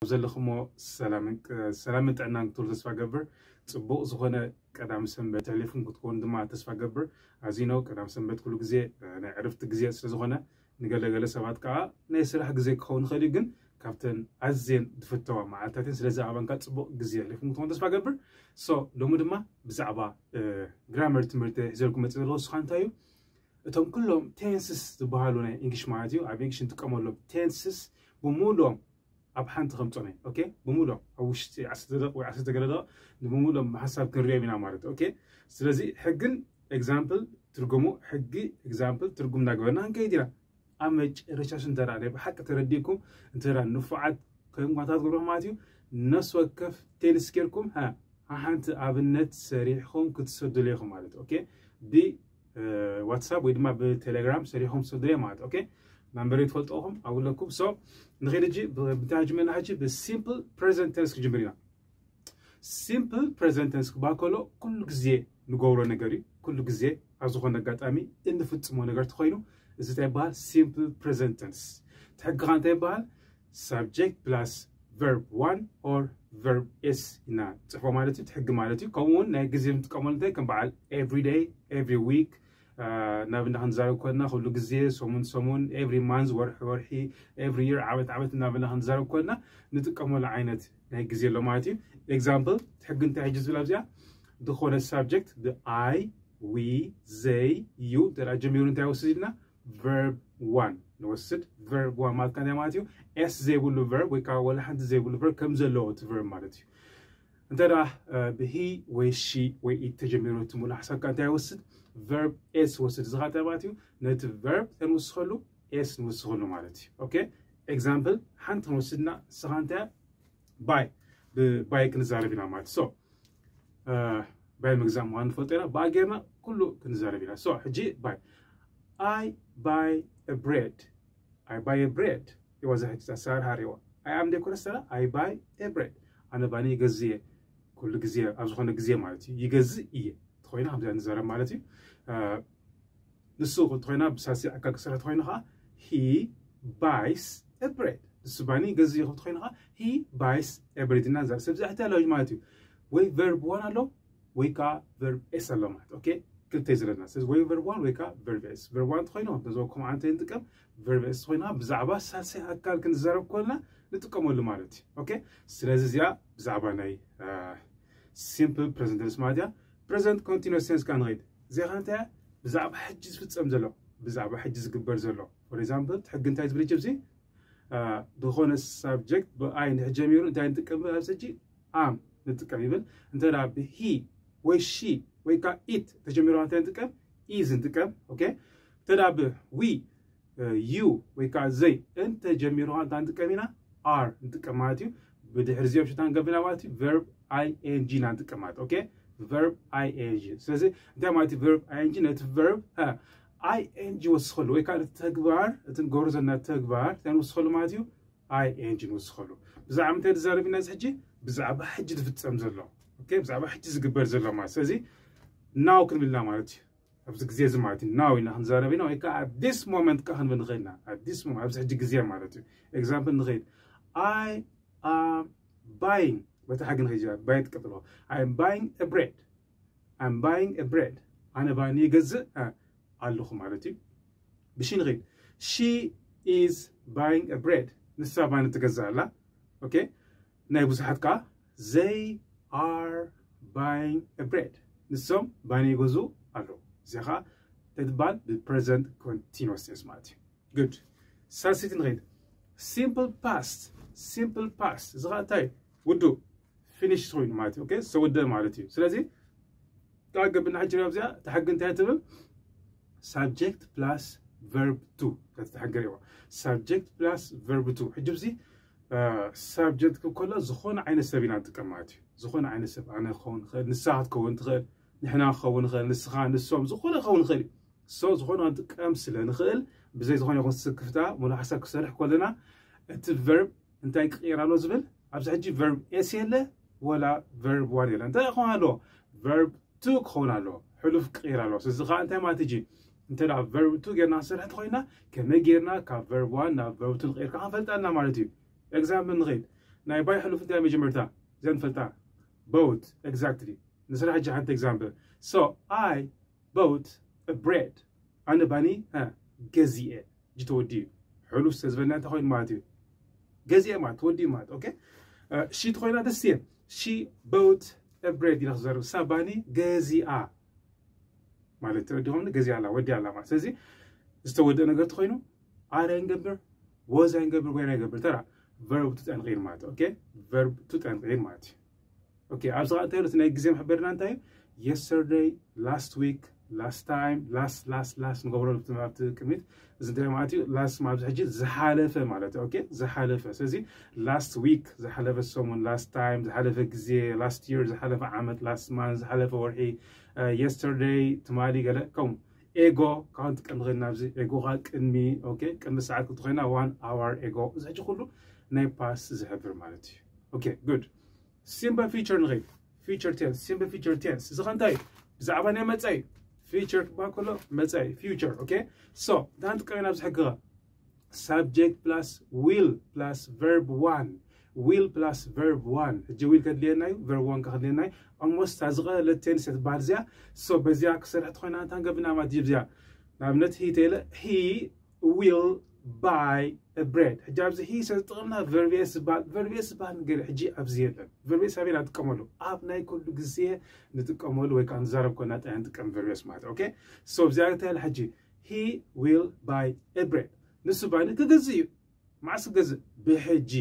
ዘለኹሞ ሰላምን ጥዕናን ክትህሉ ተስፋ ገብር። ጽቡቕ ዝኾነ ቀዳም ሰንበት ተሕሊፍኩም ክትኮኑ ድማ ተስፋ ገብር። ኣዚኖ ቀዳም ሰንበት ኩሉ ግዜ ናይ ዕርፍቲ ግዜ ስለ ዝኾነ፣ ንገለገለ ሰባት ከዓ ናይ ስራሕ ግዜ ክኸውን ይኽእል እዩ፣ ግን ካብተን ኣዝየን ዝፍተዋ መዓልታትን ስለዚ ኣባንካ ጽቡቕ ግዜ ኣሕሊፍኩም ክትኮኑ ተስፋ ገብር። ሶ ሎሚ ድማ ብዛዕባ ግራመር ትምህርቲ ሒዘልኩም መጽእ ዘለዎ ስኻ እንታይ እዩ? እቶም ኩሎም ቴንስስ ዝበሃሉ ናይ እንግሊሽ ማለት እዩ፣ ኣብ እንግሊሽ እንጥቀመሎም ቴንስስ ብምሉኦም ኣብ ሓንቲ ከምጾም እየ። ኦኬ፣ ብምሉኦም ኣብ ውሽጢ ዓሰርተ ደቂቕ ወይ ዓሰርተ ገለ ደቂቕ ንምሉኦም ብሓሳብ ክንሪኦም ኢና ማለት እዩ። ኦኬ፣ ስለዚ ሕግን ኤግዛምፕል ትርጉሙ፣ ሕጊ ኤግዛምፕል ትርጉም እናገበርና ክንከይድ ኢና። ኣብ መጨረሻ እንተ ደኣ ናይ ብሓቂ ተረዲእኩም እንተ ደኣ ንፉዓት ኮይንኩም እንታይ ትገብሩ ማለት እዩ፣ ነፍሲ ወከፍ ቴንስ ጌርኩም ሓንቲ ኣብነት ሰሪሕኩም ክትሰዱሉ ኢኹም ማለት እዩ። ኦኬ፣ ብዋትሳፕ ወይ ድማ ብቴሌግራም ሰሪሕኩም ክትሰዱሉ ማለት እዩ። ኦኬ፣ ናምበረይ ትፈልጥኹም ኣብለኩም። ሶ ንኸይድ ሕጂ እንታይ ጅመና ሕጂ ብሲምፕል ፕሬዘንት ቴንስ ክጅምር ኢና። ሲምፕል ፕሬዘንት ቴንስ ክበሃል ከሎ ኩሉ ግዜ ንገብሮ ነገር እዩ። ኩሉ ግዜ ኣብ ዝኾነ ኣጋጣሚ እንፍጽሞ ነገር ተኾይኑ እዚ እንታይ ይበሃል? ሲምፕል ፕሬዘንት ቴንስ። እቲ ሕጊ ኸ እንታይ ይበሃል? ሳብጀክት ፕላስ ቨርብ ዋን ኦር ቨርብ ኤስ ኢና ንጽሕፎ ማለት እዩ። እቲ ሕጊ ማለት እዩ። ከምኡ እውን ናይ ግዜ ንጥቀመሉ እንታይ ከም በዓል ኤቭሪ ዴይ፣ ኤቭሪ ዊክ፣ ናብ እንዳ ክንዛረብ ኮልና ኩሉ ግዜ፣ ሰሙን ሰሙን፣ ኤቭሪ ማንዝ፣ ወርሒ ወርሒ፣ ኤቭሪ ይር፣ ዓመት ዓመት እናበልና ክንዛረብ ኮልና ንጥቀመሉ ዓይነት ናይ ግዜ ኣሎ ማለት እዩ። ኤግዛምፕል ሕጊ እንታይ ሕጂ ዝብል ኣብዚኣ ዝኾነ ሳብጀክት ብኣይ፣ ዊ፣ ዘይ፣ ዩ እንተ ደኣ ጀሚሩ እንታይ ወስድ ኢልና? ቨርብ ዋን ንወስድ። ቨርብ ዋን ማለት እንታይ ማለት እዩ? ኤስ ዘይብሉ ቨርብ ወይ ከዓ ወላ ሓንቲ ዘይብሉ ቨርብ ከም ዘለዎ እቲ ቨርብ ማለት እዩ። እንተ ደኣ ብሂ ወይ ሺ ወይ ኢት ተጀሚሩ እቲ ሙሉእ ሓሳብካ እንታይ ይወስድ? ቨርብ ኤስ ይወስድ። እዚ ኸዓ እንታይ ማለት እዩ? ነቲ ቨርብ እንታይ ንውስኸሉ? ኤስ ንውስኸሉ ማለት እዩ። ኦኬ፣ ኤግዛምፕል ሓንቲ ክንወስድና፣ ንስኻ እንታይ ባይ፣ ብባይ ክንዛረብ ኢና ማለት። ሶ ባይ ምግዛእ ምዃኑ ንፈልጦ ኢና። ብኣ ጌርና ኩሉ ክንዛረብ ኢና። ሶ ሕጂ ባይ፣ I buy a bread፣ I buy a bread። እዋ እዛ ሕጂ ኣሰራርሓ ሪእዋ። ኣይ ኣም ደይኮነ ሰላ፣ I buy a bread፣ ኣነ ባኒ ይገዝእ እየ። ኩሉ ግዜ ኣብ ዝኾነ ግዜ ማለት እዩ፣ ይገዝእ እየ ተኾይና ከምዚኣ ንዛረብ ማለት እዩ። ንሱ ተኾይና ብሳልሲ ኣካል ክሰርሕ ተኾይኑ ከዓ he buys a bread። ንሱ ባኒ ይገዝእ እዩ ተኾይኑ ከዓ he buys a bread ኢና ንዛረብ። ስለዚ ሕቲ ኣለዎ ማለት እዩ፣ ወይ ቨርብ ዋን ኣሎ ወይ ከዓ ቨርብ ኤስ ኣሎ ማለት። ኦኬ፣ ክልተ እዩ ዘለና። ስለዚ ወይ ቨርብ ዋን ወይ ከዓ ቨርብ ኤስ። ቨርብ ዋን ተኾይኑ ነዞ ከምኡ ዓይነት ንጥቀም፣ ቨርብ ኤስ ተኾይኑ ከዓ ብዛዕባ ሳልሳይ ኣካል ክንዛረብ ከለና ንጥቀመሉ ማለት እዩ። ኦኬ፣ ስለዚ እዚኣ ብዛዕባ ናይ ሲምፕል ፕሬዘንት ቴንስ ማለት እያ። ፕሬዘንት ኮንቲኒስ ቴንስ ከዓ ንኸይድ። እዚኣ ከዓ እንታይ እያ? ብዛዕባ ሕጂ ዝፍጸም ዘሎ፣ ብዛዕባ ሕጂ ዝግበር ዘሎ። ፎር ኤግዛምፕል እቲ ሕጊ እንታይ ዝብል ሕጂ ኣብዚ ዝኾነ ሳብጀክት ብኣይ እንድሕር ጀሚሩ እንታይ ንጥቀም? ኣብዚ ሕጂ ኣም ንጥቀም ይብል። እንተ ደኣ ብሂ ወይ ሺ ወይ ከዓ ኢት ተጀሚሩ እንታይ ንጥቀም? ኢዝ ንጥቀም። ኦኬ፣ እንተ ደኣ ብዊ፣ ዩ ወይ ከዓ ዘይ እንተ ጀሚሩ እንታይ ንጥቀም ኢና? ኣር ንጥቀም ማለት እዩ። ብድሕሪ እዚኦም ሽታ ንገብና ማለት እዩ፣ ቨርብ ኣይ ኤን ጂ ኢና ንጥቀም ማለት። ኦኬ፣ ቨርብ ኣይ ኤን ጂ። ስለዚ እንታይ ማለት እዩ ቨርብ ኣይ ኤን ጂ? ነቲ ቨርብ ኣይ ኤን ጂ ወስኸሉ ወይ ከዓ ነቲ ተግባር፣ እቲ ንገብሮ ዘለና ተግባር እንታይ ንወስኸሉ ማለት እዩ? ኣይ ኤን ጂ ንወስኸሉ። ብዛዕባ እንታይ ንዛረብ ኢና እዚ ሕጂ? ብዛዕባ ሕጂ ዝፍጸም ዘሎ። ኦኬ፣ ብዛዕባ ሕጂ ዝግበር ዘሎ ማለት። ስለዚ ናው ክንብል ኢና ማለት እዩ። ኣብዚ ግዜ እዚ ማለት እዩ ናው ኢና ክንዛረብ ኢና፣ ወይ ከዓ at this moment ከዓ ክንብል ንኽእል ኢና። At this moment፣ ኣብዚ ሕጂ ግዜ ማለት እዩ። ኤግዛምፕል ንኸይድ፣ I am buying፣ በታ ሕጊ ንኸይድ፣ ባይ ትቀጥሎ። I am buying a bread፣ I am buying a bread፣ ኣነ ባኒ ይገዝእ ኣለኹ ማለት እዩ። ብሺ ንኸይድ፣ she is buying a bread፣ ንሳ ባኒ ትገዝእ ኣላ። ኦኬ፣ ናይ ብዙሓት ከዓ they are buying a bread፣ ንሶም ባኒ ይገዝኡ ኣለዉ። እዚ ከዓ እንታይ ትበሃል? ብፕሬዘንት ኮንቲኒስ ቴንስ ማለት እዩ። ጉድ። ሳልሰይቲ ንኸይድ፣ ሲምፕል ፓስት፣ ሲምፕል ፓስት፣ እዚ ከዓ እንታይ? ውዱእ፣ ፊኒሽ ኮይኑ ማለት እዩ። ኦኬ፣ ዝተወደአ ማለት እዩ። ስለዚ ዳግም ብና ሕጂ ሪኦ እዚኣ፣ እታ ሕጊ እንታይ ትብል? ሳብጀክት ፕላስ ቨርብ ቱ። እታ ሕጊ ሪእዋ። ሳብጀክት ፕላስ ቨርብ ቱ። ሕጂ እዚ ሳብጀክት ክከሎ ዝኾነ ዓይነት ሰብ ኢና ንጥቀም ማለት እዩ። ዝኾነ ዓይነት ሰብ፣ ኣነ ክኸውን ይኽእል፣ ንሳ ክትከውን ትኽእል፣ ንሕና ክኸውን ይኽእል፣ ንስኻ፣ ንሶም፣ ዝኾነ ክኸውን ይኽእል እዩ። ሶ ዝኾነ ክንጥቀም ስለ ንኽእል፣ ብዘይ ዝኾነ ይኹን ስክፍታ ሙሉእ ሓሳብ ክሰርሕ ከለና እቲ ቨርብ እንታይ ክቕየር ኣለዎ ዝብል፣ ኣብዚ ሕጂ ቨርብ ኤስ የለ ወላ ቨርብ ዋን የለ። እንታይ ክኸውን ኣለዎ? ቨርብ ቱ ክኸውን ኣለዎ። ሕሉፍ ክቕየር ኣለዎ። ስለዚ ከዓ እንታይ ማለት ሕጂ? እንተ ደኣ ቨርብ ቱ ጌርና ክንሰርሕ እንተኾይና፣ ከመይ ጌርና ካብ ቨርብ ዋን ናብ ቨርብ ቱ ንቕየር ከዓ ክንፈልጥ ኣለና ማለት እዩ። ኤግዛምፕል ንኸይድ። ናይ ባይ ሕሉፍ እንታይ መጀመርታ ዘንፈልጣ? Bought. Exactly. ንስራሕ ሕጂ ሓንቲ example. So I bought a bread. ኣነ ባኒ ገዚኤ። ሕጂ ተወዲኡ። ሕሉፍ ዝተዝበልና እንታይ ኮይኑ ማለት እዩ? ገዚኤ ማለት ተወዲኡ ማለት። Okay? ሺ ተኮይና ደስ እየ። She bought a bread ኢለ ክዘርብ። እሳ ባኒ ገዚኣ ማለት ተወዲኾም ገዚኣ ኣላ፣ ወዲኣ ኣላ ማለት። ስለዚ ዝተወደአ ነገር ተኮይኑ are ኣይንገብር፣ was ኣይንገብር፣ were ኣይንገብር። ተራ verb to ተንቂር ማለት። Okay? Verb to ተንቂር ማለት እዩ። Okay? ኣብዚ ኸዓ እንታይ ናይ ግዜ መሕበርና እንታይ እዩ? Yesterday, last week, last time, last last last ንገብሮ ኣብቲ ቅድሚት እዚ እንታይ ማለት እዩ? Last ማለት ሕጂ ዝሓለፈ ማለት እዩ። Okay? ዝሓለፈ። ስለዚ last week ዝሓለፈ ሰሙን፣ last time ዝሓለፈ ግዜ፣ last year ዝሓለፈ ዓመት፣ last month ዝሓለፈ ወርሒ፣ yesterday ትማሊ ገለ ከምኡ። Ago ካብ ንጥቀም ንኽእል ናብዚ ago ኸዓ ቅድሚ። Okay? ቅድሚ ሰዓት ክትኮይና one hour ago። እዚ ሕጂ ኩሉ ናይ past ዝሕብር ማለት እዩ። Okay? Good. Simple future ንኸይድ። Future tense፣ simple future tense። እዚ ኸ እንታይ እዩ? ብዛዕባ ናይ መጻኢ። Future ክበሃል ከሎ መጻኢ፣ future። Okay? So እንታይ ንጥቀም ኢና ኣብዚ ሕጊ ኸ? Subject plus will plus verb one። Will plus verb one። ሕጂ will ከድልየና እዩ፣ verb one ከድልየና እዩ። Almost እዛ ዝቐለለት tense እያ ትበሃል እዚኣ። So በዚኣ ክሰርሕ ተኾይና እንታይ ንገብር ኢና ማለት እዩ? እዚኣ ንኣብነት he ተይለ he will buy a bread። ሕጂ ኣብዚ he ስለ ዝጠቐምና verb s ዝበሃል፣ verb s ዝበሃል ነገር ሕጂ ኣብዚ የለን። Verb s ኣበይ ኢና ንጥቀመሉ? ኣብ ናይ ኩሉ ግዜ ንጥቀመሉ ወይ ከዓ ንዛረብ ኮና ጥራይ ንጥቀም verb s ማለት። Okay? So እዚኣ እንታይ ኢላ ሕጂ? He will buy a bread። ንሱ ባኒ ክገዝእ እዩ። መዓስ ክገዝእ? ብሕጂ።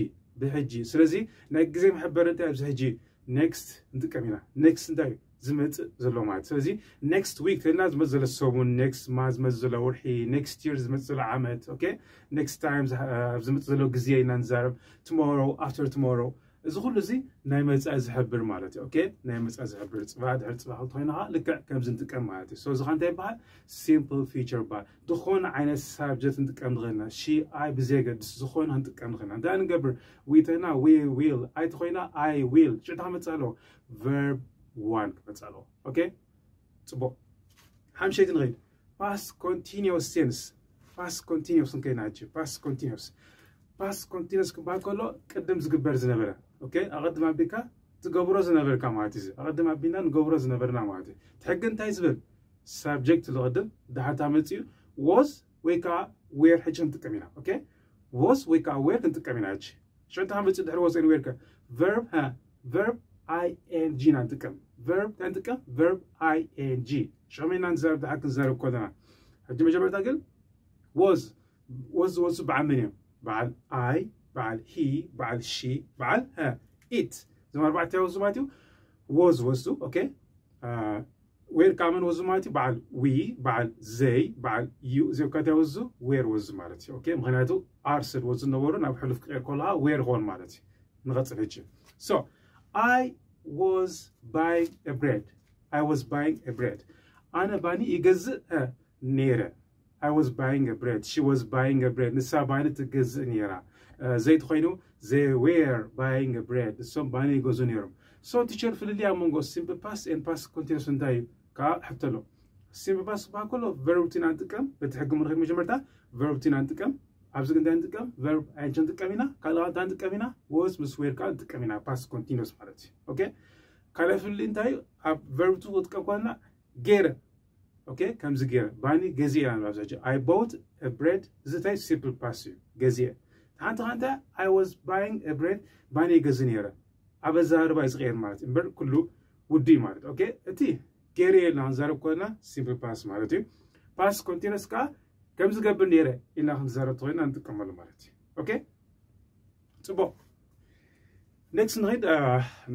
ብሕጂ። ስለዚ ናይ ግዜ መሐበሪ እንታይ ኣብዚ ሕጂ? Next ንጥቀም ኢና። Next እንታይ እዩ? ዝመጽእ ዘሎ ማለት። ስለዚ next week ተልና ዝመጽእ ዘሎ ሰሙን፣ next month ዝመጽእ ዘሎ ወርሒ፣ next year ዝመጽእ ዘሎ ዓመት። Okay? Next time ዝመጽእ ዘሎ ግዜ ኢና ንዛረብ። Tomorrow፣ after tomorrow። እዚ ኩሉ እዚ ናይ መጻኢ ዝሕብር ማለት እዩ። Okay? ናይ መጻኢ ዝሕብር፣ ጽባሕ ድሕሪ ጽባሕ ክትኾይና ኸዓ ልክዕ ከምዚ ንጥቀም ማለት እዩ። So እዚ ኸ እንታይ ይበሃል? Simple future ይበሃል። ዝኾነ ዓይነት subject ንጥቀም ንኽእል ኢና። She፣ I ብዘየገድስ ዝኾነ ክንጥቀም ንኽእል ኢና። እንታይ ንገብር? We ተይና we will፣ I ተኾይና I will። ሽዑ እንታይ ክመጽእ ኣለዎ? Verb one ክመጽእ ኣለዎ። Okay? ጽቡቕ። ሓምሸይቲ ንኸይድ። Past continuous tense። Past continuous ንከይና ሕጂ። Past continuous። Past continuous ክበሃል ከሎ ቅድም ዝግበር ዝነበረ። Okay? ኣቐድም ኣቢልካ ትገብሮ ዝነበርካ ማለት እዩ። ኣቐድም ኣቢልና ንገብሮ ዝነበርና ማለት እዩ። እቲ ሕጊ እንታይ ዝብል? Subject ዝቕድም ድሓታ መጽኡ was ወይ ከዓ were ሕጂ ክንጥቀም ኢና። Okay? Was ወይ ከዓ were ክንጥቀም ኢና ሕጂ። ሽዑ እንታይ መጽኡ ድሕሪ was and were ከ? Verb፣ ሀ፣ verb I N G ኢና ንጥቀም። Verb እንታይ ንጥቀም? Verb I N G። ሽዑ መን ኢና ንዛረብ? ድሓር ክንዛረብ ከለና። ሕጂ መጀመርታ ግን was፣ was፣ was በዓል መን እዮም? በዓል I፣ በዓል he፣ በዓል she፣ በዓል፣ ሀ፣ it። እዞም ኣርባዕተ was ማለት እዩ። Was፣ was፣ okay? Were ከዓ መን was ማለት እዩ? በዓል we፣ በዓል they፣ በዓል you። እዚኦም ከ እንታይ was? Were was ማለት እዩ። Okay? ምኽንያቱ are ስለ was ዝነበሩ ናብ ሕሉፍ ክቐየር ከሎ ኸዓ were ክኾን ማለት እዩ። ንቐጽል ሕጂ። So I was buying a bread። I was buying a bread። ኣነ ባኒ ይገዝእ፣ እ፣ ነይረ። I was buying a bread። She was buying a bread። ንሳ ባኒ ትገዝእ ነይራ። እ፣ they ተኾይኑ they were buying a bread። ንሶም ባኒ ይገዝኡ ነይሮም። So teacher፣ ፍልልይ ኣብ መንጎ simple past and past continuous እንታይ እዩ? ከዓ ሕቶ ኣሎ። Simple past ክበሃል ከሎ verb two ኢና ንጥቀም። በቲ ሕጊ ንኸይድ መጀመርታ verb two ኢና ንጥቀም። ኣብዚ ግን እንታይ ንጥቀም? Verb I N G ንጥቀም ኢና። ካልእ እንታይ ንጥቀም ኢና? Was ምስ were ከዓ ንጥቀም ኢና። Past continuous ማለት እዩ። Okay? ካልእ ፍልልይ እንታይ እዩ? ኣብ verb two ክጥቀም ከለና ገይረ። Okay? ከምዚ ገይረ። ባኒ ገዚኤ ኢና ንብል ኣብዚ ሕጂ። I bought a bread። እዚ እንታይ? Simple past እዩ። ገዚኤ። ሓንቲ ከ እንታይ? I was buying a bread። ባኒ ይገዝእ ነይረ። ኣብ ኣዘራርባ እዩ ዝቕየር ማለት እዩ። እምበር ኩሉ ውዱእ እዩ ማለት። Okay? እቲ ገይረ ኢልና ክንዛረብ ከለና simple past ማለት እዩ። Past continuous ከዓ ከም ዝገብር ነይረ ኢልና ክንዛረብ ተኾይና ንጥቀመሉ ማለት እዩ። Okay? ጽቡቕ። Next ንኸይድ፣ እ፣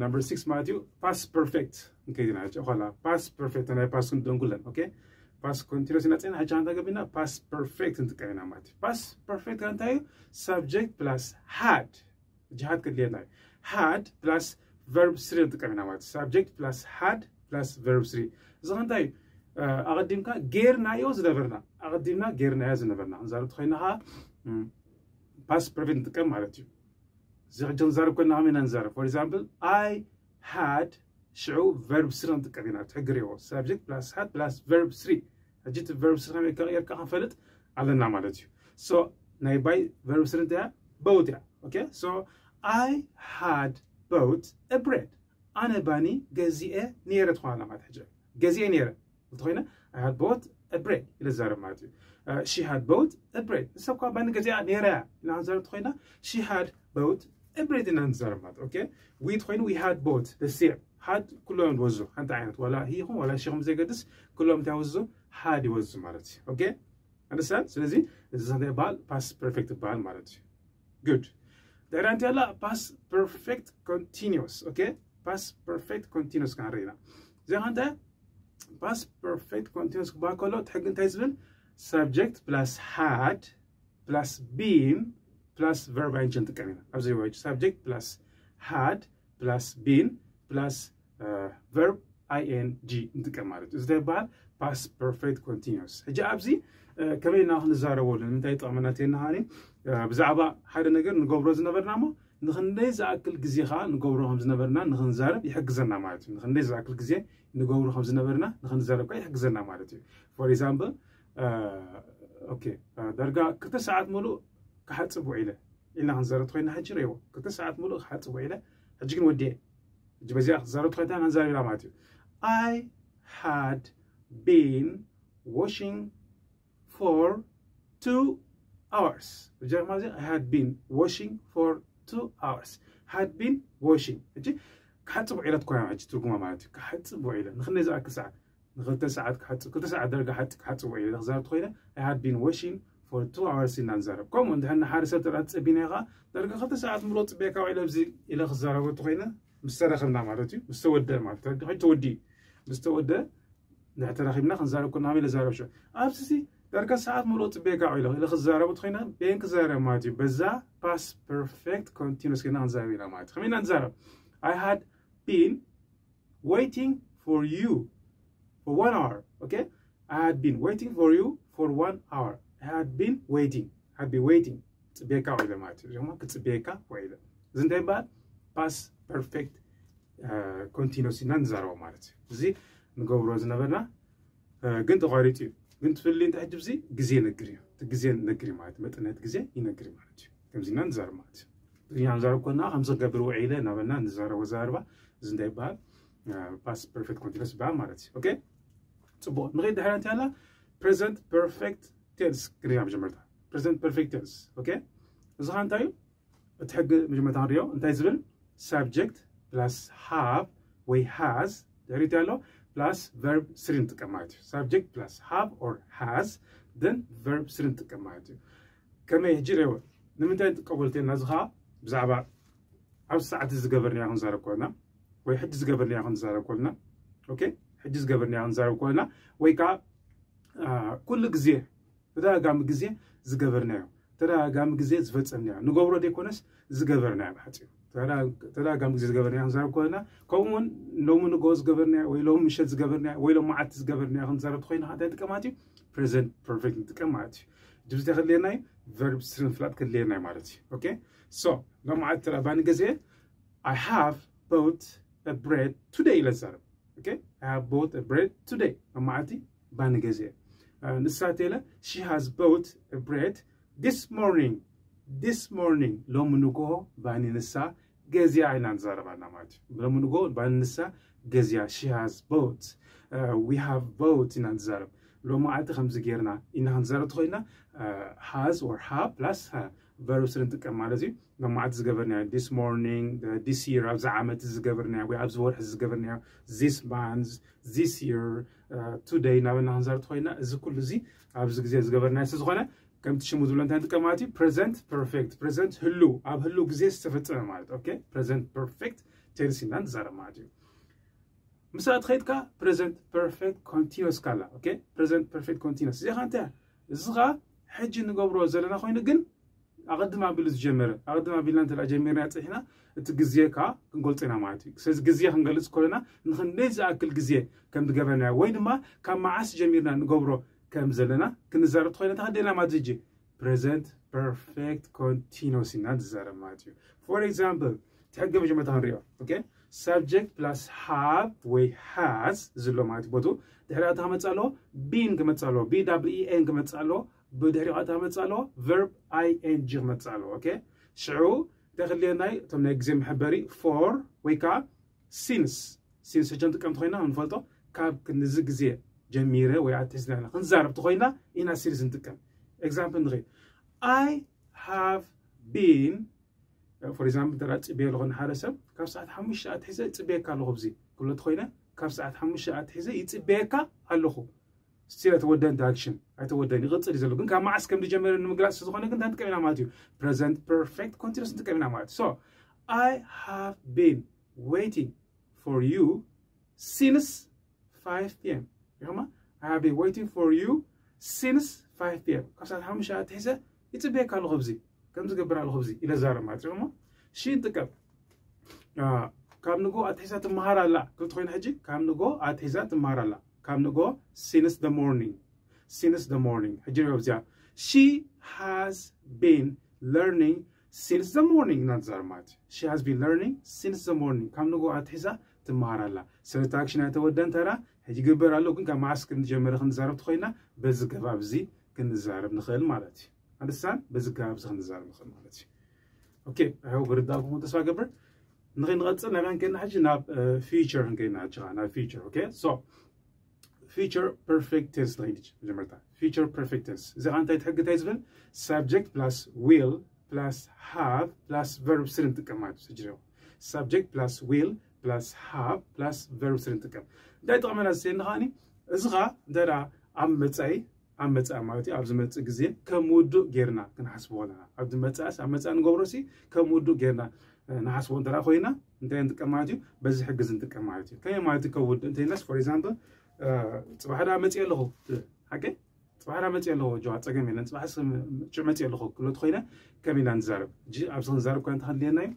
number six ማለት እዩ። Past perfect ንከይድ ኢና ሕጂ። ኋላ past perfect ናይ past ክንደንጉለን። Okay? Past continuous ኢና ጸኒሕና፣ ሕጂ ሓንቲ ገቢና past perfect ንጥቀም ኢና ማለት እዩ። Past perfect ከ እንታይ እዩ? Subject plus had። ሕጂ had ከድልየና እዩ። Had plus verb three ንጥቀም ኢና ማለት እዩ። Subject plus had plus verb three። እዚ ከ እንታይ እዩ? እ፣ ኣቐዲምካ ጌርናዮ ዝነበርና፣ ኣቐዲምና ጌርናዮ ዝነበርና ክንዛረብ ተኾይና ኸዓ፣ እም፣ past perfect ንጥቀም ማለት እዩ። እዚ ሕጂ ክንዛረብ ኮና ከመይ ኢና ንዛረብ? For example, I had፣ ሽዑ verb three ክንጥቀም ኢና። እቲ ሕጊ ርኢዎ። Subject plus had plus verb three። ሕጂ እቲ verb three ከመይ ከቕየርካ ክንፈልጥ ኣለና ማለት እዩ። So ናይ ባይ verb three እንታይ እያ? Bought እያ። Okay? So I had bought a bread. ኣነ ባኒ ገዚኤ ነይረ ትኾና ማለት ሕጂ ገዚኤ ነይረ እንተኾይነ I had bought a bread ኢለ ዝዛረብ ማለት እዩ። She had bought a bread። ንሳ እኳ ባኒ ገዚኣ ነይራ እያ ኢልና ክንዛረብ እንተኾይና she had bought a bread ኢና ንዛረብ ማለት። ኦኬ፣ we እንተኾይኑ we had bought the same። Had ኩሎም ወዙ ሓንቲ ዓይነት ዋላ he ይኹን ዋላ she ይኹን ብዘይገድስ ኩሎም እንታይ ወዙ? Had ይወዙ ማለት እዩ። ኦኬ፣ understand? ስለዚ እዚ እንታይ ይበሃል? Past perfect ይበሃል ማለት እዩ። Good። ድሕሪያ እንታይ ኣላ? Past perfect continuous። ኦኬ፣ past perfect continuous ክንርኢ ኢና። እዚኣ ከ እንታይ? Past perfect continuous ክበሃል ከሎ እቲ ሕጊ እንታይ ዝብል? Subject plus had plus been plus verb ing ንጥቀም ኢና። ኣብዚ ወይ subject plus had plus been plus verb ing ንጥቀም ማለት እዩ። እዚ እንታይ ይበሃል? Past perfect continuous። ሕጂ ኣብዚ ከመይ ኢና ክንዛረበሉ? ንምንታይ ይጠቕመና? ተይና ሃኒ ብዛዕባ ሓደ ነገር ንገብሮ ዝነበርና እሞ ንኽንደይ ዝኣክል ግዜ ከዓ ንገብሮ ከም ዝነበርና ንኽንዛረብ ይሕግዘና ማለት እዩ። ንኽንደይ ዝኣክል ግዜ ንገብሮ ከም ዝነበርና ንኽንዛረብ ከዓ ይሕግዘና ማለት እዩ። For example፣ ኦኬ፣ ዳርጋ ክልተ ሰዓት ሙሉእ ክሓፅብ ውዒለ ኢልና ክንዛረብ ተኮይና ሕጂ ረይዎ ክልተ ሰዓት ሙሉእ ክሓፅብ ውዒለ ሕጂ ግን ወዲኤ ሕጂ በዚኣ ክትዛረብ ተኮይና ክንዛረብ ኢና ማለት እዩ። I had been washing for two hours። ብጀርማ እዚ I had been washing for two hours። Had been washing ሕጂ ክሓፅብ ውዒለ ትኮይና ሕጂ ትርጉማ ማለት እዩ። ክሓፅብ ውዒለ ንክንደይ ዝኣክል ሰዓት ንክልተ ሰዓት ክሓፅብ ክልተ ሰዓት ደረጋ ሓፂ ክሓፅብ ውዒለ ክዛረብ ተኮይነ I had been washing for two hours ኢና ንዛረብ። ከምኡ እንድሕር ንሓደ ሰብ ተራ ትፀቢና ኢኻ ደረጋ ክልተ ሰዓት ምሎ ፅቤካ ውዒለ ኣብዚ ኢለ ክዛረበ ተኮይነ ምስ ተረኸብና ማለት እዩ። ምስ ተወደ ማለት እዩ። ሕጂ ተወዲ ምስ ተወደ ንሕተረኺብና ክንዛረብ ኩና ኢለ ዛረብ ሸ ኣብዚ ሲ ደርገ ሰዓት ሙሉእ ጽቤካ ኢለ ኢለ ክዛረቡ ትኾይና ቤን ክዛረብ ማለት እዩ። በዛ past perfect continuous ገና ክንዛረብ ኢና ማለት እዩ። ከመይ ኢና ንዛረብ? I had been waiting for you for one hour. Okay? I had been waiting for you for one hour. I had been waiting. I had been waiting. ጽቤካ ኢለ ማለት እዩ። እዚኦም ክጽቤካ ኢለ። እዚ እንታይ ይበሃል? Past perfect continuous ኢና ንዛረቦ ማለት እዩ። እዚ ንገብሮ ዝነበርና ግን ተቋሪጡ እዩ። ግን ትፍሊ እንታይ ሕጂ ግዜ ይነግር እዩ። እቲ ግዜ ይነግር እዩ ማለት መጠን ናይቲ ግዜ ይነግር እዩ ማለት እዩ። ከምዚ ኢና ንዛረብ ማለት እዩ። ትግርኛ ንዛረብ ኮና ከምዚ ክገብር ውዒለ እናበልና ንዛረቦ ኣዘራርባ እዚ እንታይ ይበሃል? Past perfect continuous ይበሃል ማለት እዩ። ኦኬ፣ ጽቡቕ። ንኸይድ ድሕሪ እንታይ ኣላ? Present perfect tense ክንሪኣ መጀመርታ። Present perfect tense። ኦኬ፣ እዚ ኸ እንታይ እዩ? እቲ ሕጊ መጀመርታ ክንሪኦ እንታይ ዝብል? Subject plus have ወይ has ድሕሪት ኣሎ plus verb three ንጥቀም ማለት እዩ። Subject plus have or has then verb three ንጥቀም ማለት እዩ። ከመይ ሕጂ ሪኦ ንምንታይ ንጥቀመሉ ተና እዚ ከዓ ብዛዕባ ኣብ ሰዓት ዝገበርና ክንዛረብ ኮና ወይ ሕጂ ዝገበርና ክንዛረብ ኮና። ኦኬ፣ ሕጂ ዝገበርና ክንዛረብ ኮና ወይ ከዓ ኩሉ ግዜ ተደጋጋሚ ግዜ ዝገበርናዮ ተደጋጋሚ ግዜ ዝፈጸምናዮ ንገብሮ ዘይኮነስ ዝገበርናዮ ብሓፂሩ ተደጋጋሚ ግዜ ዝገበርናዮ ክንዛረብ ኮና። ከምኡ እውን ሎሚ ንጎ ዝገበርናዮ ወይ ሎሚ ምሸት ዝገበርናዮ ወይ ሎሚ መዓልቲ ዝገበርናዮ ክንዛረብ ተኮይና እንታይ ጥቀማት እዩ? Present perfect ንጥቀም ማለት እዩ። ድብዚ ክድልየና እዩ። Verb three ምፍላጥ ክድልየና እዩ ማለት እዩ። ኦኬ፣ so ሎሚ መዓልቲ ተላ ባኒ ገዜ I have bought a bread today ኢለ ዝዛረብ። Okay? I have bought a bread today። መማዓልቲ ባኒ ገዜ ንሳ ቴለ she has bought a bread this morning። This morning ሎሚ ንግሆ ባኒ ንሳ ገዚያ ኢና ንዛረባና ማለት እዩ። ሎሚ ንግሆ ባኒ ንሳ ገዚያ she has bought። We have bought ኢና ንዛረብ። ሎሚ መዓልቲ ከምዚ ጌርና ኢና ክንዛረብ ተኮይና has or have plus verb three ንጥቀም ማለት እዩ። መማዓልቲ ዝገበርናዮ this morning፣ this year፣ ኣብዚ ዓመት ዝገበርናዮ ወይ ኣብዚ ወርሒ ዝገበርናዮ this month፣ this year፣ today እናበልና ክንዛረብ ተኮይና እዚ ኩሉ እዚ ኣብዚ ግዜ ዝገበርናዮ ስለዝኮነ ከምቲ ሽሙ ዝብሎ እንታይ ንጥቀም ማለት እዩ? Present perfect። Present ህሉ ኣብ ህሉ ግዜ ዝተፈጸመ ማለት። ኦኬ፣ present perfect tense ኢና ንዛረብ ማለት እዩ። ምሳኣ ትኸይድካ present perfect continuous ካላ። ኦኬ፣ present perfect continuous እዚኣ እንታይ እዚ ከዓ ሕጂ ንገብሮ ዘለና ኮይኑ ግን ኣቐድም ኣቢሉ ዝጀመረ ኣቐድም ኣቢልና እንተ ጀሚርና ፅሒና እቲ ግዜ ከዓ ክንገልፆ ኢና ማለት እዩ። ስለዚ ግዜ ክንገልፅ ከለና ንክንደይ ዝኣክል ግዜ ከም ዝገበርናዮ ወይ ድማ ካብ መዓስ ጀሚርና ንገብሮ ከም ዘለና ክንዛረብ ተኮይና ተኸደና ማለት እዩ። Present perfect continuous ኢና ንዛረብ ማለት እዩ። For example ትሕገ መጀመርታ ክንሪኦ። Okay? Subject plus have ወይ has ዝሎ ማለት ቦቱ ድሕሪ ኣታ ክመፅእ ኣለዎ። Been ክመፅእ ኣለዎ። B E E N ክመፅእ ኣለዎ። ብድሕሪ ኣታ ክመፅእ ኣለዎ። Verb I N G ክመፅእ ኣለዎ። Okay? ሽዑ እንታይ ክልየናይ እቶም ናይ ግዜ መሐበሪ for ወይ ከዓ since since ሕጂ ንጥቀም ተኮይና ንፈልጦ ካብ ክንዚ ግዜ ጀሚረ ወይ ኣትሒዝና ኢና ክንዛረብ ተኮይና ኢና since ንጥቀም። Example ንኸይድ I have been for example እንተ ፅቤ ኣለኹ ንሓደ ሰብ ካብ ሰዓት ሓሙሽተ ኣትሒዘ ፅቤካ ኣለኹ ብዚ ክብሎ ተኮይነ ካብ ሰዓት ሓሙሽተ ኣትሒዘ ይፅቤካ ኣለኹ still ኣይተወደን ኣክሽን ኣይተወደን ይቕፅል እዩ ዘሎ ግን ካብ መዓስ ከም ዝጀመረ ንምግላፅ ስለዝኾነ ግን እንታይ ንጥቀም ኢና ማለት እዩ present perfect continuous ንጥቀም ኢና ማለት so I have been waiting for you since five p.m. ይኸማ I have been waiting for you since five p.m. ካብ ሰዓት ሓሙሽተ ኣትሒዘ ይፅበየካ ኣለኹ ብዚ ከም ዝገብር ኣለኹ ብዚ ኢለ ዛረብ ማለት እዩ ሺ ንጥቀም ካብ ንጎ ኣትሒዛ ትመሃር ኣላ ክልተ ኮይና ሕጂ ካብ ንጎ ኣትሒዛ ትመሃር ኣላ ካብ ንጎ since the morning since the morning ሕጂ ንሪኦ እዚኣ she has been learning since the morning ኢና ንዛረብ ማለት እዩ she has been learning since the morning ካብ ንጎ ኣትሒዛ ትመሃር ኣላ ስለዚ ኣክሽን ኣይተወደን ተራ ሕጂ ግበር ኣሎ ግን ካብ መዓስ ክንጀመረ ክንዛረብ ተኮይና በዚ ገባብ እዚ ክንዛረብ ንኽእል ማለት እዩ ኣንደስታን በዚ ገባብ እዚ ክንዛረብ ንኽእል ማለት እዩ okay I hope ርዳእኩም ተስፋ ገብር ንኸይንቐፅል ናበይ ክንከይድና ሕጂ ናብ future ክንከይድና ሕጂ ናብ future okay so future perfect tense ንኸይድ መጀመርታ future perfect tense እዚ ከዓ እንታይ ትሕግታይ ዝብል subject plus will plus have plus verb three ንጥቀም ማለት እዩ subject plus will plus have plus verb three ንጥቀም እንታይ ጠቕመና ዝሰየኒ ከዓኒ እዚ ከዓ እንታይ ኣብ መፃኢ ኣብ መፃኢ ማለት እዩ ኣብ ዝመፅእ ግዜ ከም ውዱእ ጌርና ክንሓስቦ ኣለና ኣብ ዝመፅእስ ኣብ መፃኢ ንገብሮ ሲ ከም ውዱእ ጌርና ንሓስቦ እንተ ኮይና እንታይ ንጥቀም ማለት እዩ በዚ ሕግዝ ንጥቀም ማለት እዩ ከመይ ማለት እዩ ከም ውዱእ እንተይናስ for example ፅባሕ ዳ መፅእ ኣለኹ ሓቂ ፅባሕ ዳ መፅእ ኣለኹ ጆዋ ፀገም የለን ፅባሕ ሽዕ መፅእ ኣለኹ ክብሎ ተኮይነ ከም ኢና ንዛረብ እጂ ኣብዚ ክንዛረብ ኮነ ተኸድልየና እዩ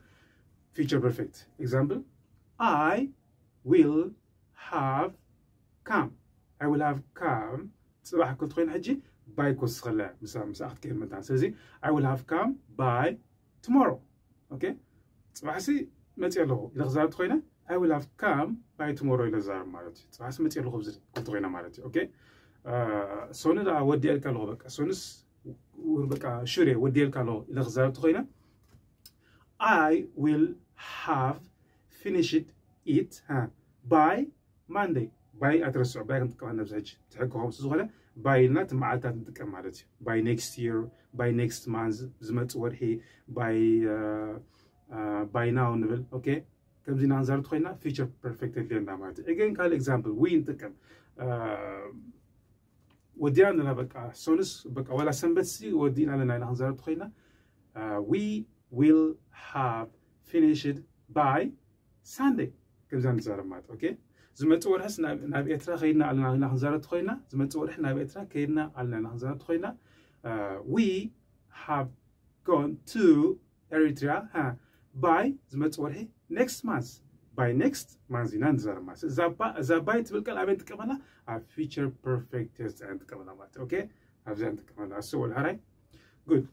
future perfect example I will have come I will have come ፅባሕ ክልተ ኮይነ ሕጂ by ክወስኸለ ምስ ምስ ክትከይድ መታን ስለዚ I will have come by tomorrow okay ፅባሕሲ መፅእ ኣለኹ ኢለ ክዛረብ ተኮይነ I will have come by tomorrow ኢለ ዛረብ ማለት እዩ ፅባሕሲ መፅእ ኣለኹ ክልተ ኮይነ ማለት እዩ okay ሶኒ ዳ ወዲኤልካ ኣለኹ በቃ ሶንስ በቃ ሹር ወዲኤልካ ኣለኹ ኢለ ክዛረብ ተኮይነ I will have finished it by Monday by ኣትረስዑ by ክንጥቀም ነብዚ ሕጂ ትሕግኹም ዝኾነ by ኢልና እቲ መዓልታት ንጥቀም ማለት እዩ by next year by next month ዝመፅእ ወርሒ by by now ንብል okay ከምዚ ኢና ክንዛረብ ተኮይና future perfect የድልየና ማለት እዩ again ካልእ example we ንጥቀም ወዲና ኣለና በቃ ሶንስ በቃ ዋላ ሰንበት ሲ ወዲና ኣለና ኢና ክንዛረብ ተኮይና we will have finished by Sunday ከምዛ ንዛረብ ማለት okay ዝመፅእ ወርሕስ ናብ ኤርትራ ከይድና ኣለና ኢና ክንዛረብ ተኮይና ዝመፅእ ወርሒ ናብ ኤርትራ ከይድና ኣለና ኢና ክንዛረብ ተኮይና we have gone to Eritrea by ዝመፅእ ወርሒ next month by next month ኢና ንዛረብ ማለት እዛ by ትብል ቃል ኣበይ ንጥቀመላ ኣብ future perfect tense ኢና ንጥቀመላ ማለት okay ኣብዚኣ ንጥቀመላ ኣስበሉ ሕራይ good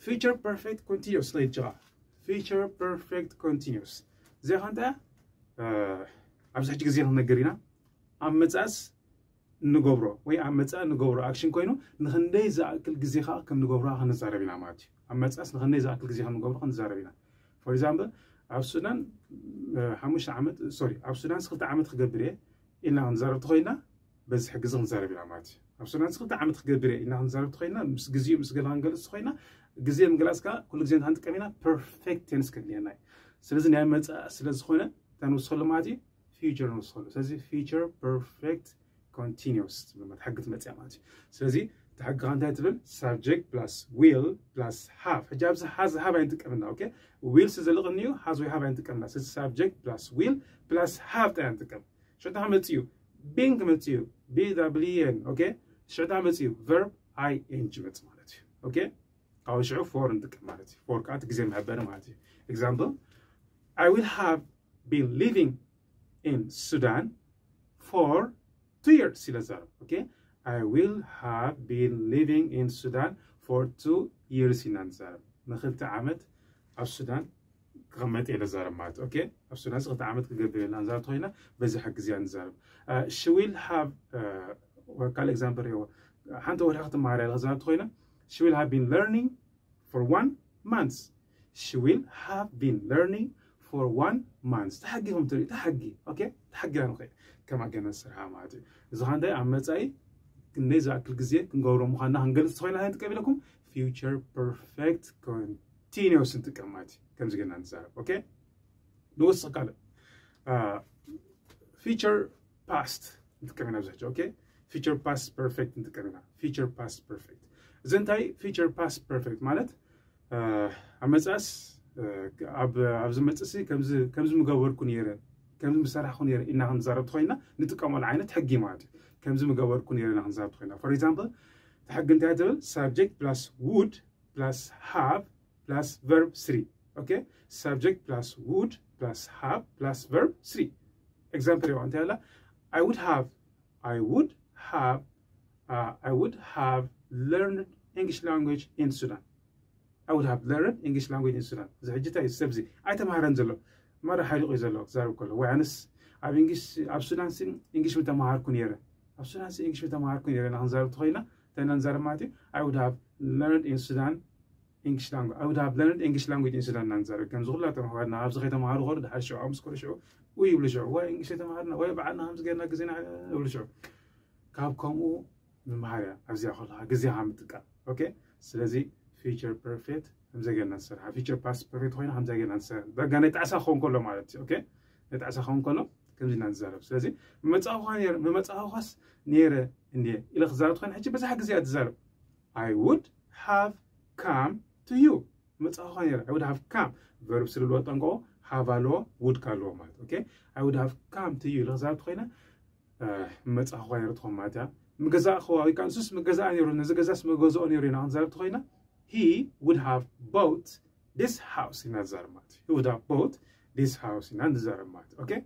future perfect continuous ንኸይድ ጅኻ future perfect continuous እዚኣ ከ እንታይ ኣብዚ ሕጂ ግዜ ክንነገር ኢና ኣብ መፅኣስ ንገብሮ ወይ ኣብ መፃኢ ንገብሮ ኣክሽን ኮይኑ ንክንደይ ዝኣክል ግዜ ከዓ ከም ንገብሮ ክንዛረብ ኢና ማለት እዩ ኣብ መፅኣስ ንክንደይ ዝኣክል ግዜ ከም ንገብሮ ክንዛረብ ኢና for example ኣብ ሱዳን ሓሙሽተ ዓመት sorry ኣብ ሱዳን ክልተ ዓመት ክገብር እየ ኢልና ክንዛረብ ተኮይና በዚ ሕግዚ ክንዛረብ ኢና ማለት እዩ ኣብ ሱዳን ክልተ ዓመት ክገብር እየ ኢልና ክንዛረብ ተኮይና ምስ ግዜኡ ምስ ገለ ክንገልፅ ተኮይና ግዜ ምግላፅ ከዓ ኩሉ ግዜ እንታይ ንጥቀም ኢና perfect tense ከድልየና እዩ ስለዚ ናይ መፃኢ ስለዝኮነ እንታይ ንወስከሉ ማለት እዩ future ንወስከሉ ስለዚ future perfect continuous ትብል ሕጊ ትመፅያ ማለት እዩ ስለዚ እቲ ሕጊ እንታይ ትብል subject plus will plus have ሕጂ ኣብዚ has have ኣይንጥቀምና okay will ስዘለቕኒ እዩ has ወይ have ኣይንጥቀምና ስለዚ subject plus will plus have ጥራይ ንጥቀም ሽዑ እንታይ ክመፅእ እዩ been ክመፅእ እዩ been okay ሽዑ እንታይ ክመፅእ እዩ verb ing ይመፅእ ማለት እዩ okay ካብኡ ሽዑ for ንጥቀም ማለት እዩ for ከዓ እቲ ግዜ መሐበሪ ማለት እዩ example I will have been living in Sudan for two years ኢለ ዛረብ okay I will have been living in Sudan for two years ኢና ንዛረብ ንክልተ ዓመት ኣብ ሱዳን ክቕመጥ እየ ዛረብ ማለት okay ኣብ ሱዳን ክልተ ዓመት ክገብር እየ ንዛረብ ተኮይና በዚ ሕግዚ እያ ንዛረብ she will have ካልእ example ሪኦ ሓንቲ ወርሒ ክትመሃር እያ ዛረብ ተኮይና she will have been learning for one month She will have been learning for one month. ተሓጊኹም ትርኢ፣ ተሓጊ፣ okay? ተሓጊ ንኽእል ከም ኣገናዝ ስርሓ ማለት እዩ። እዚ ኸዓ እንታይ ኣብ መጻኢ ክንደይ ዝኣክል ግዜ ክንገብሮ ምዃንና ክንገልጽ ተኾይና እንታይ ንጥቀም ኢለኩም? Future perfect continuous ንጥቀም ማለት እዩ። ከምዚ ገና ንዛረብ፣ okay? ንወስኽ ካልእ። Future past ንጥቀም ኢና ብዙሕ፣ okay? Future past perfect ንጥቀም ኢና። Future past perfect። እዚ እንታይ? Future past perfect ማለት ኣብ መጻስ ኣብ ዝመጽእ ሲ ከምዚ ምገበርኩ ነይረ፣ ከምዚ ምሰራሕኩ ነይረ ኢና ክንዛረብ ተኾይና ንጥቀመሉ ዓይነት ሕጊ ማለት እዩ። ከምዚ ምገበርኩ ነይረ ኢና ክንዛረብ ተኾይና። For example፣ እቲ ሕጊ እንታይ ትብል? Subject plus would plus have plus verb three። Okay? Subject plus would plus have plus verb three። Example ይዋ እንታይ ኣላ? I would have I would have uh, I would have learned English language in Sudan። I would have learned English language in Sudan። እዚ ሕጂ እንታይ እዩ ሰብዚ ኣይተማሃረን ዘሎ፣ ማራ ሓሪቑ እዩ ዘሎ ክዛረብ ከሎ። ወይ ኣነስ ኣብ እንግሊሽ ኣብ ሱዳን ሲ እንግሊሽ ምተማሃርኩ ነይረ፣ ኣብ ሱዳን ሲ እንግሊሽ ምተማሃርኩ ነይረ ኢና ክንዛረብ ተኾይና እንታይ ኢና ንዛረብ ማለት እዩ? I would have learned in Sudan English language I would have learned English language in Sudan ኢና ንዛረብ። ከምዚ ኩላቶም ኣሕዋትና ኣብዚ ከይተማሃሩ ከሉ ድሓር ሽዑ ምስ ከሉ ሽዑ ውይ ይብሉ፣ ሽዑ ወይ እንግሊሽ ተማሃርና ወይ በዓልና ከምዚ ገርና ግዜና ይብሉ ሽዑ። ካብ ከምኡ ምምሃር እያ ኣብዚኣ ከለኻ ግዜኻ ምጥቃም። Okay? ስለዚ future perfect ከምዚ ገርና ንሰርሓ፣ future past perfect ኮይና ከምዚ ገርና ንሰርሓ። በቃ ናይ ጣዕሳ ክኸውን ከሎ ማለት እዩ። Okay? ናይ ጣዕሳ ክኸውን ከሎ ከምዚ ኢና ንዛረብ። ስለዚ ምመጻእኳ ነይረ፣ ምመጻእኳስ ነይረ እንዴ ኢለ ክዛረብ ትኾይና ሕጂ በዛ ግዜ እያ ትዛረብ። I would have come to you። መጻእኳ ነይረ። I would have come። Verb three ኣለዎ ጠንቀቆ፣ have ኣለዎ፣ would ከ ኣለዎ ማለት። Okay? I would have come to you ኢለ ክዛረብ ተኾይና ምመጻእኳ ነይረ ትኾን ማለት እያ። ምገዛእኽዋ ወይ ከዓ ንሱስ ምገዛእ ነይሩ፣ ነዚ ገዛስ ምገዝኦ ነይሩ ኢና ክንዛረብ ተኾይና he would have bought this house ኢና ንዛረብ ማለት እዩ። He would have bought this house ኢና ንዛረብ ማለት እዩ። Okay?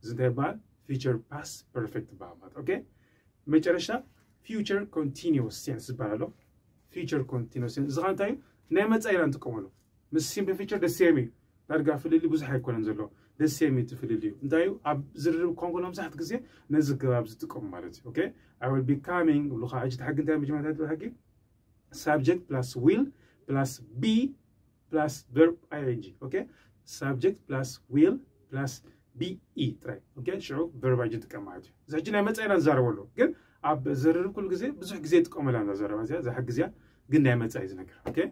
እዚ እንታይ ይበሃል? Future past perfect ይበሃል ማለት። Okay? መጨረሻ future continuous tense ዝበሃል ኣሎ። Future continuous tense እዚ ኸዓ እንታይ እዩ? ናይ መጻኢ ኢና ንጥቀመሉ። ምስ simple future the same እዩ። ዳርጋ ፍልልይ ብዙሕ ኣይኮነን ዘሎ። The same እዩ እቲ ፍልልዩ። እንታይ እዩ? ኣብ ዝርርብ ክኸውን ከሎ መብዛሕትኡ ግዜ ነዚ ኣገባብ ዝጥቀሙ ማለት እዩ። Okay? I will be coming ብሉ ኸዓ ሕጂ እቲ ሕጊ እንታይ መጀመርታ ትብል ሕጊ? Subject plus will plus be plus verb ing። Okay? Subject plus will plus be ጥራይ። Okay? ሽዑ verb ing ንጥቀም ማለት እዩ። እዚ ሕጂ ናይ መጻኢ ኢና ንዛረበሉ። ግን ኣብ ዝርርብ ኩሉ ግዜ ብዙሕ ግዜ ይጥቀመላ እዛ ዘረባ እዚኣ፣ እዛ ሕጊ እዚኣ ግን ናይ መጻኢ እዩ ዝነግር። Okay?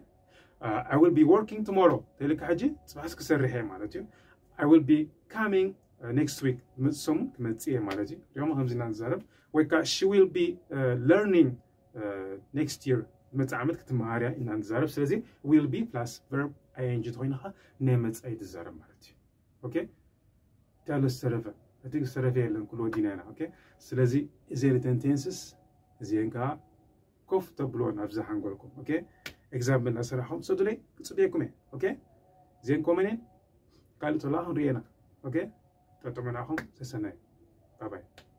I will be working tomorrow ተልካ ሕጂ ጽባሕስ ክሰርሕ እየ ማለት እዩ። I will be coming next week ዝመጽእ ሰሙን ክመጽእ እየ ማለት እዩ። ሪኦም ከምዚ ኢና ንዛረብ። ወይ ከዓ she will be learning next year ዝመጽእ ዓመት ክትመሃር እያ ኢና ንዛረብ። ስለዚ will be plus verb ing ተኾይንኻ ናይ መጻኢ ትዛረብ ማለት እዩ። Okay? እንታይ ኣሎ ዝተረፈ? እቲ ዝተረፈ የለን፣ ኩሉ ወዲና ኢና። Okay? ስለዚ እዚአን እተን tenses እዚአን ከዓ ኮፍ ተብልዎን ኣብዚ ሓንጎልኩም። Okay? Example እናሰራሕኹም ሰዱለይ ክጽበየኩም እየ። Okay? እዚአን ኮመን እየን። ካልእ ተላ ክንሪኤና። Okay? ጠጥዑ መናኹም ሰሰናዩ። Bye bye።